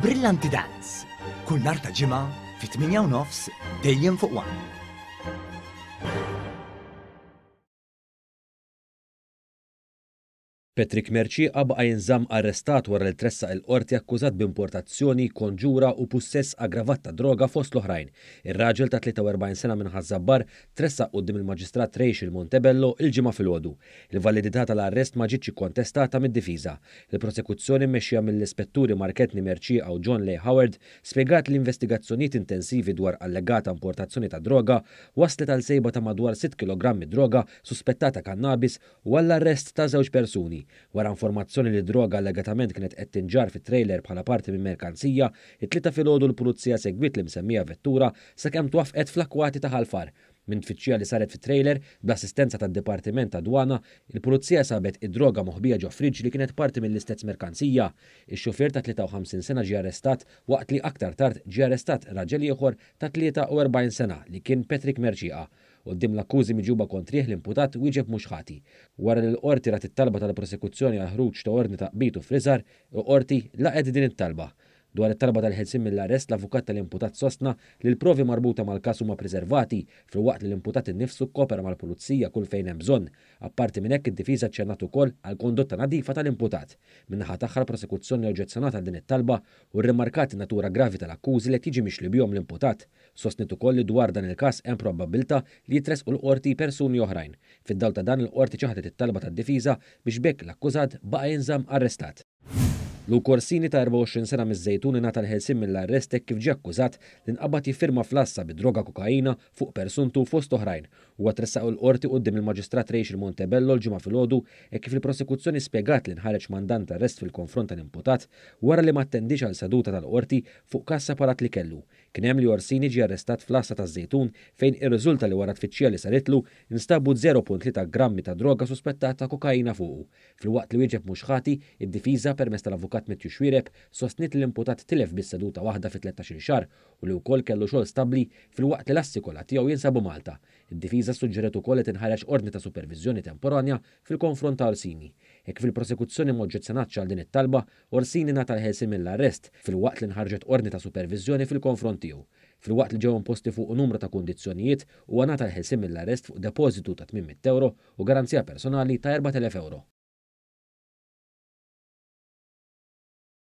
Brillanti Dance, kull nhar ta' Ġimgħa fit-8 u nofs dejjem fuq One. Patrick Mercieca baqa' jinżamm arrestat wara li tressaq il-Qorti akkużat b'importazzjoni, konġura u pussess aggravat ta' droga fost l-oħrajn. Ir-raġel ta' 43 sena minn Ħaż-Żabbar tressaq quddiem il-Maġistrat Rachel Montebello il-Ġimgħa filgħodu. Il-validità tal-arrest ma ġietx ikkontestata mid-difiża. Il-prosekuzzjoni mmexxija mill-Ispetturi Mark Anthony Mercieca u John Leigh Howard spjegat li investigazzjonijiet intensivi dwar allegata importazzjoni ta' droga wasslet għal sejba ta' madwar sitt kilogrammi droga suspettata kannabis u għall-arrest ta' żewġ persuni. Wara informazzjoni li d-droga allegatament kienet qed tinġarr fi trailer bħala parti minn merkanzija, it-Tlieta filgħodu l-Pulizija segwiet l-imsemmija vettura sakemm twaffqet fl-akkwati ta' Ħal Far. Minn tfittxija li saret fit-trailer, bl-assistenza tad-Dipartiment tad-Dwana, il-Pulizija sabet id-droga moħbija ġo friġġ li kienet parti mill-istess merkanzija. Ix-xufier ta' 53 sena ġie arrestat waqt li aktar tard ġie arrestat raġel ieħor ta' 43 sena li kien Patrick Mercieca. Quddiem l-akkużi miġjuba kontrih l-imputat wieġeb mhux ħati. Wara li l-Qorti rat it-talba tal-prosekuzzjoni għall-ħruġ ta' ordni ta' qbid u ffriżar, il-Qorti laqgħet din it-talba. Dwar it-talba tal-ħelsien mill-arrest l-avukat tal-imputat sostna li l-provi marbuta mal-każ huma priservati filwaqt li l-imputat innifsu kkopera mal-pulizija kull fejn hemm bżonn. Apparti minn hekk id-difiża aċċennat ukoll għall-kondotta nadifa tal-imputat. Min-naħa tagħha l-prosekuzzjoni oġġezzjonat għal din it-talba u rrimarkat in-natura gravi tal-akkużi li qed jiġi mixli bihom l-imputat. Sostniet ukoll li dwar dan il-każ hemm probabbiltà li jitressqu l-Qorti persuni oħrajn. Fid-dawl ta' dan, il-Qorti ċaħdet it-talba tad-difiża biex b'hekk l-akkużat baqa' jinżamm arrestat. Luke Orsini ta' 24 sena miż-Żejtun ingħata l-ħelsien mill-arrest hekk kif ġie akkużat li nqabad jiffirma fl-għassa bi droga kokaina fuq persuntu fost oħrajn. Huwa tressaq il-Qorti quddiem il-Maġistrat Rachel Montebello l-Ġimgħa filgħodu hekk kif il-Prosekuzzjoni spjegat li nħareġ mandant ta' arrest fil-konfront tal-imputat wara li ma attendiex għal seduta tal-Qorti fuq każ separat li kellu. Kien hemm li Orsini ġie arrestat fl-għassa taż-Żejtun fejn irriżulta li wara tfittxija li saritlu nstabu 0.3 grammi ta' droga suspettata kokaina fuqu. Filwaqt li wieġeb mhux ħati, id-difiża, permezz tal-avukat Matthew Xuereb, sostniet li l-imputat tilef biss seduta waħda fi tlettax-il xahar u li wkoll kellu xogħol stabbli filwaqt li l-assi kollha tiegħu jinsabu Malta. Id-difiża ssuġġeriet ukoll li tinħareġ ordni ta' superviżjoni temporanja fil-konfront ta' Orsini. Hekk kif il-prosekuzzjoni m'oġġezzjonatx għal din it-talba, Orsini ngħata l-ħelsien mill-arrest, filwaqt li nħarġet ordni ta' superviżjoni fil-konfront tiegħu. Filwaqt li ġew imposti fuqu numru ta' kundizzjonijiet, huwa ngħata l-ħelsien mill-arrest fuq depożitu ta' 800 ewro u garanzija personali ta' 4,000 ewro.